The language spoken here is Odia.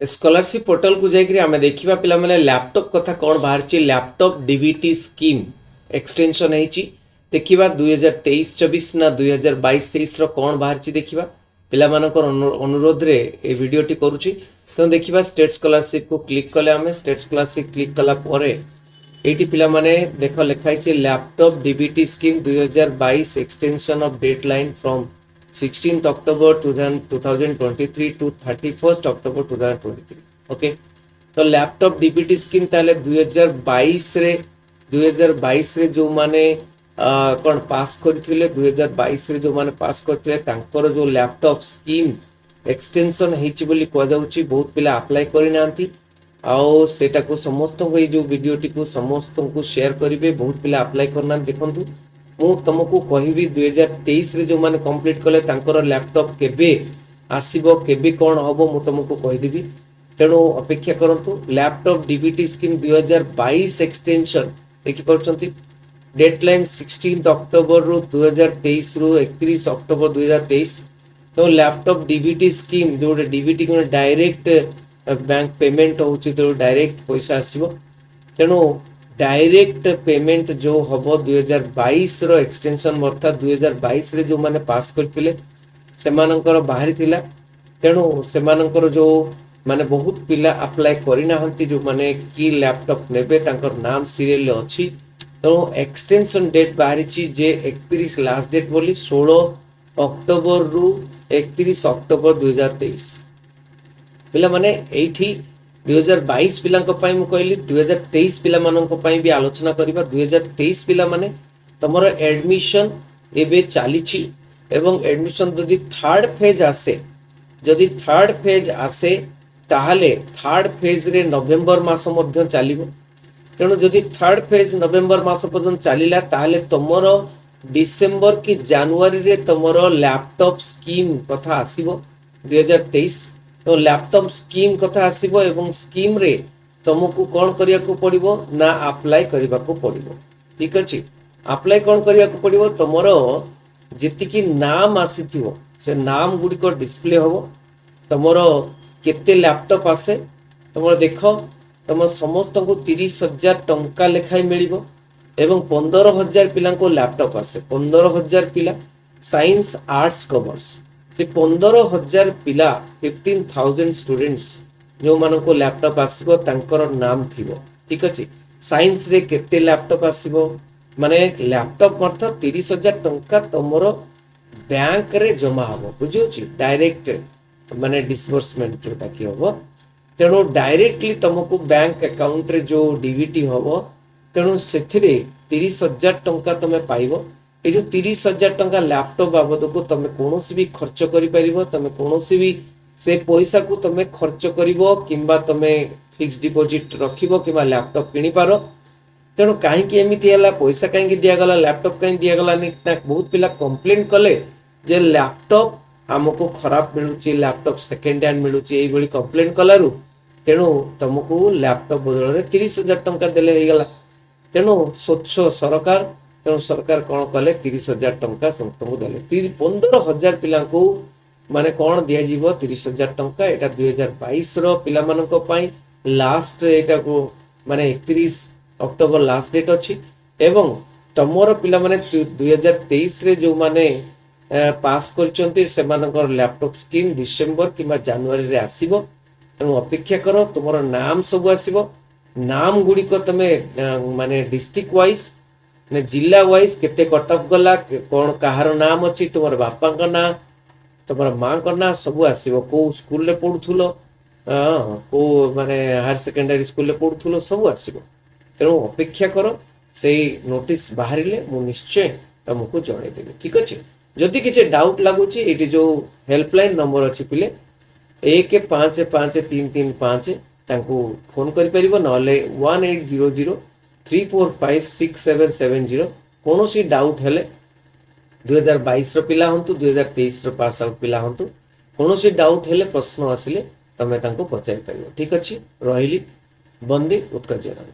ସ୍କଲାରସିପ୍ ପୋର୍ଟାଲକୁ ଯାଇକରି ଆମେ ଦେଖିବା ପିଲାମାନେ, ଲ୍ୟାପଟପ୍ କଥା କ'ଣ ବାହାରିଛି। ଲ୍ୟାପଟପ୍ ଡିବିଟି ସ୍କିମ୍ ଏକ୍ସଟେନସନ୍ ହେଇଛି। ଦେଖିବା 2023-24 ନା 2022-23ର କ'ଣ ବାହାରିଛି ଦେଖିବା। ପିଲାମାନଙ୍କର ଅନୁରୋଧରେ ଏ ଭିଡ଼ିଓଟି କରୁଛି। ତେଣୁ ଦେଖିବା, ଷ୍ଟେଟ୍ ସ୍କଲାରସିପ୍କୁ କ୍ଲିକ୍ କଲେ ଆମେ, ଷ୍ଟେଟ୍ ସ୍କଲାରସିପ୍ କ୍ଲିକ୍ କଲା ପରେ ଏଇଠି ପିଲାମାନେ ଦେଖ, ଲେଖା ହେଇଛି laptop DBT scheme 2022, extension of date line from 16th October 2023 to 31st October 2023. Okay, ତ ଲ୍ୟାପଟପ୍ ଡିବିଟି ସ୍କିମ୍ ତାହେଲେ 2022ରେ, 2022ରେ ଯେଉଁମାନେ କ'ଣ ପାସ୍ କରିଥିଲେ, 2022ରେ ଯେଉଁମାନେ ପାସ୍ କରିଥିଲେ, ତାଙ୍କର ଯେଉଁ ଲ୍ୟାପଟପ୍ ସ୍କିମ୍ ଏକ୍ସଟେନସନ୍ ହେଇଛି ବୋଲି କୁହାଯାଉଛି। ବହୁତ ପିଲା ଆପ୍ଲାଏ କରିନାହାନ୍ତି। ଆଉ ସେଇଟାକୁ ସମସ୍ତଙ୍କୁ, ଏଇ ଯେଉଁ ଭିଡ଼ିଓଟିକୁ ସମସ୍ତଙ୍କୁ ସେୟାର କରିବେ। ବହୁତ ପିଲା ଆପ୍ଲାଏ କରିନାହାନ୍ତି। ଦେଖନ୍ତୁ, ମୁଁ ତୁମକୁ କହିବି, 2023ରେ ଯେଉଁମାନେ କମ୍ପ୍ଲିଟ୍ କଲେ ତାଙ୍କର ଲ୍ୟାପଟପ୍ କେବେ ଆସିବ, କେବେ କ'ଣ ହେବ, ମୁଁ ତୁମକୁ କହିଦେବି। ତେଣୁ ଅପେକ୍ଷା କରନ୍ତୁ। ଲ୍ୟାପଟପ୍ ଡିବିଟି ସ୍କିମ୍ 2022 ଏକ୍ସଟେନସନ୍ ଦେଖିପାରୁଛନ୍ତି, ଡେଟ୍ ଲାଇନ୍ 16 ଅକ୍ଟୋବରରୁ 2023ରୁ 31 ଅକ୍ଟୋବର 2023। ତେଣୁ ଲ୍ୟାପଟପ୍ ଡିବିଟି ସ୍କିମ୍ ଯେଉଁଟା ଡିବିଟି ଡାଇରେକ୍ଟ ବ୍ୟାଙ୍କ ପେମେଣ୍ଟ ହେଉଛି, ତେଣୁ ଡାଇରେକ୍ଟ ପଇସା ଆସିବ। ତେଣୁ ଡାଇରେକ୍ଟ ପେମେଣ୍ଟ ଯେଉଁ ହେବ 2022ର ଏକ୍ସଟେନସନ୍, ଅର୍ଥାତ୍ 2022ରେ ଯେଉଁମାନେ ପାସ୍ କରିଥିଲେ ସେମାନଙ୍କର ବାହାରିଥିଲା। ତେଣୁ ସେମାନଙ୍କର ଯେଉଁ ମାନେ ବହୁତ ପିଲା ଆପ୍ଲାଏ କରିନାହାନ୍ତି, ଯେଉଁମାନେ କି ଲ୍ୟାପଟପ୍ ନେବେ, ତାଙ୍କର ନାମ ସିରିଏଲରେ ଅଛି। ତେଣୁ ଏକ୍ସଟେନସନ୍ ଡେଟ୍ ବାହାରିଛି ଯେ 31 ଲାଷ୍ଟ ଡେଟ୍ ବୋଲି, 16 ଅକ୍ଟୋବରରୁ 31 ଅକ୍ଟୋବର 2023। ପିଲାମାନେ, ଏଇଠି 2022 ପିଲାଙ୍କ ପାଇଁ ମୁଁ କହିଲି, 2023 ପିଲାମାନଙ୍କ ପାଇଁ ବି ଆଲୋଚନା କରିବା। 2023 ପିଲାମାନେ, ତମର ଆଡ଼ମିସନ୍ ଏବେ ଚାଲିଛି ଏବଂ ଆଡ଼ମିସନ୍ ଯଦି ଥାର୍ଡ ଫେଜ୍ ଆସେ, ଯଦି ଥାର୍ଡ ଫେଜ୍ ଆସେ, ତାହେଲେ ଥାର୍ଡ ଫେଜ୍ରେ ନଭେମ୍ବର ମାସ ମଧ୍ୟ ଚାଲିବ। ତେଣୁ ଯଦି ଥାର୍ଡ ଫେଜ୍ ନଭେମ୍ବର ମାସ ପର୍ଯ୍ୟନ୍ତ ଚାଲିଲା, ତାହେଲେ ତମର ଡିସେମ୍ବର କି ଜାନୁଆରୀରେ ତମର ଲ୍ୟାପଟପ୍ ସ୍କିମ୍ କଥା ଆସିବ 2023। ତ ଲ୍ୟାପଟପ୍ ସ୍କିମ୍ କଥା ଆସିବ ଏବଂ ସ୍କିମ୍ରେ ତମକୁ କ'ଣ କରିବାକୁ ପଡ଼ିବ ନା ଆପ୍ଲାଏ କରିବାକୁ ପଡ଼ିବ। ଠିକ ଅଛି? ଆପ୍ଲାଏ କ'ଣ କରିବାକୁ ପଡ଼ିବ? ତମର ଯେତିକି ନାମ ଆସିଥିବ ସେ ନାମ ଗୁଡ଼ିକ ଡିସପ୍ଲେ ହେବ। ତମର କେତେ ଲ୍ୟାପଟପ୍ ଆସେ ତମର ଦେଖ। ତମ ସମସ୍ତଙ୍କୁ 30,000 ଟଙ୍କା ଲେଖାଏଁ ମିଳିବ ଏବଂ 15,000 ପିଲାଙ୍କୁ ଲ୍ୟାପଟପ୍ ଆସେ। 15,000 ପିଲା, ସାଇନ୍ସ, ଆର୍ଟସ, କମର୍ସ, ସେ 15,000 ପିଲା, 15,000 ଷ୍ଟୁଡେଣ୍ଟସ୍ ଯେଉଁମାନଙ୍କୁ ଲ୍ୟାପଟପ୍ ଆସିବ ତାଙ୍କର ନାମ ଥିବ। ଠିକ ଅଛି? ସାଇନ୍ସରେ କେତେ ଲ୍ୟାପଟପ୍ ଆସିବ, ମାନେ ଲ୍ୟାପଟପ୍ ଅର୍ଥ 30,000 ଟଙ୍କା ତମର ବ୍ୟାଙ୍କରେ ଜମା ହବ। ବୁଝିହେଉଛି? ଡାଇରେକ୍ଟ ମାନେ ଡିସବର୍ସମେଣ୍ଟ ଯୋଉଟା କି ହବ। ତେଣୁ ଡାଇରେକ୍ଟଲି ତମକୁ ବ୍ୟାଙ୍କ ଆକାଉଣ୍ଟରେ ଯୋଉ ଡିବିଟି ହବ, ତେଣୁ ସେଥିରେ 30,000 ଟଙ୍କା ତମେ ପାଇବ। ଏଇ ଯୋଉ 30,000 ଟଙ୍କା ଲ୍ୟାପଟପ୍ ବାବଦକୁ ତମେ କୌଣସି ବି ଖର୍ଚ୍ଚ କରିପାରିବ। ତମେ କୌଣସି ବି ସେ ପଇସାକୁ ତମେ ଖର୍ଚ୍ଚ କରିବ କିମ୍ବା ତମେ ଫିକ୍ସ ଡିପୋଜିଟ୍ ରଖିବ କିମ୍ବା ଲ୍ୟାପଟପ୍ କିଣିପାର। ତେଣୁ କାହିଁକି ଏମିତି ହେଲା, ପଇସା କାହିଁକି ଦିଆଗଲା, ଲ୍ୟାପଟପ୍ କାହିଁକି ଦିଆଗଲାନି ନା, ବହୁତ ପିଲା କମ୍ପ୍ଲେନ୍ କଲେ ଯେ ଲ୍ୟାପଟପ୍ ଆମକୁ ଖରାପ ମିଳୁଛି, ଲ୍ୟାପଟପ୍ ସେକେଣ୍ଡ ହ୍ୟାଣ୍ଡ ମିଳୁଛି। ଏଇଭଳି କମ୍ପ୍ଲେନ୍ କଲାରୁ ତେଣୁ ତମକୁ ଲ୍ୟାପଟପ୍ ବଦଳରେ 30,000 ଟଙ୍କା ଦେଲେ ହେଇଗଲା। ତେଣୁ ସ୍ୱଚ୍ଛ ସରକାର। ତେଣୁ ସରକାର କ'ଣ କଲେ? 30,000 ଟଙ୍କା ସମସ୍ତଙ୍କୁ ଦେଲେ। 15,000 ପିଲାଙ୍କୁ ମାନେ କ'ଣ ଦିଆଯିବ? 30,000 ଟଙ୍କା। ଏଇଟା 2022ର ପିଲାମାନଙ୍କ ପାଇଁ ଲାଷ୍ଟ, ଏଇଟାକୁ ମାନେ 31 ଅକ୍ଟୋବର ଲାଷ୍ଟ ଡେଟ୍ ଅଛି। ଏବଂ ତମର ପିଲାମାନେ 2023ରେ ଯେଉଁମାନେ ପାସ୍ କରିଛନ୍ତି ସେମାନଙ୍କର ଲ୍ୟାପଟପ୍ ସ୍କିମ୍ ଡିସେମ୍ବର କିମ୍ବା ଜାନୁଆରୀରେ ଆସିବ। ତେଣୁ ଅପେକ୍ଷା କର, ତୁମର ନାମ ସବୁ ଆସିବ। ନାମ ଗୁଡ଼ିକ ତମେ ମାନେ ଡିଷ୍ଟ୍ରିକ୍ଟ ୱାଇଜ୍, ମାନେ ଜିଲ୍ଲା ୱାଇଜ୍ କେତେ କଟ୍ ଅଫ୍ ଗଲା, କ'ଣ କାହାର ନାମ ଅଛି, ତୁମର ବାପାଙ୍କ ନାଁ, ତୁମର ମାଙ୍କ ନାଁ ସବୁ ଆସିବ। କୋଉ ସ୍କୁଲରେ ପଢୁଥିଲ, କୋଉ ମାନେ ହାୟର ସେକେଣ୍ଡାରୀ ସ୍କୁଲରେ ପଢୁଥିଲ, ସବୁ ଆସିବ। ତେଣୁ ଅପେକ୍ଷା କର, ସେଇ ନୋଟିସ୍ ବାହାରିଲେ ମୁଁ ନିଶ୍ଚୟ ତମକୁ ଜଣେଇଦେବି। ଠିକ ଅଛି? ଯଦି କିଛି ଡାଉଟ୍ ଲାଗୁଛି, ଏଇଠି ଯୋଉ ହେଲ୍ପଲାଇନ୍ ନମ୍ବର ଅଛି ପିଲେ, 155335, ତାଙ୍କୁ ଫୋନ୍ କରିପାରିବ। ନହେଲେ 18003456770। କୌଣସି ଡାଉଟ୍ ହେଲେ, 2022ର ପିଲା ହୁଅନ୍ତୁ, 2023ର ପାସ୍ ଆଉଟ୍ ପିଲା ହୁଅନ୍ତୁ, କୌଣସି ଡାଉଟ୍ ହେଲେ, ପ୍ରଶ୍ନ ଆସିଲେ ତମେ ତାଙ୍କୁ ପଚାରି ପାରିବ। ଠିକ ଅଛି, ରହିଲି। ବନ୍ଦେ ଉତ୍କଳ ଜନନୀ।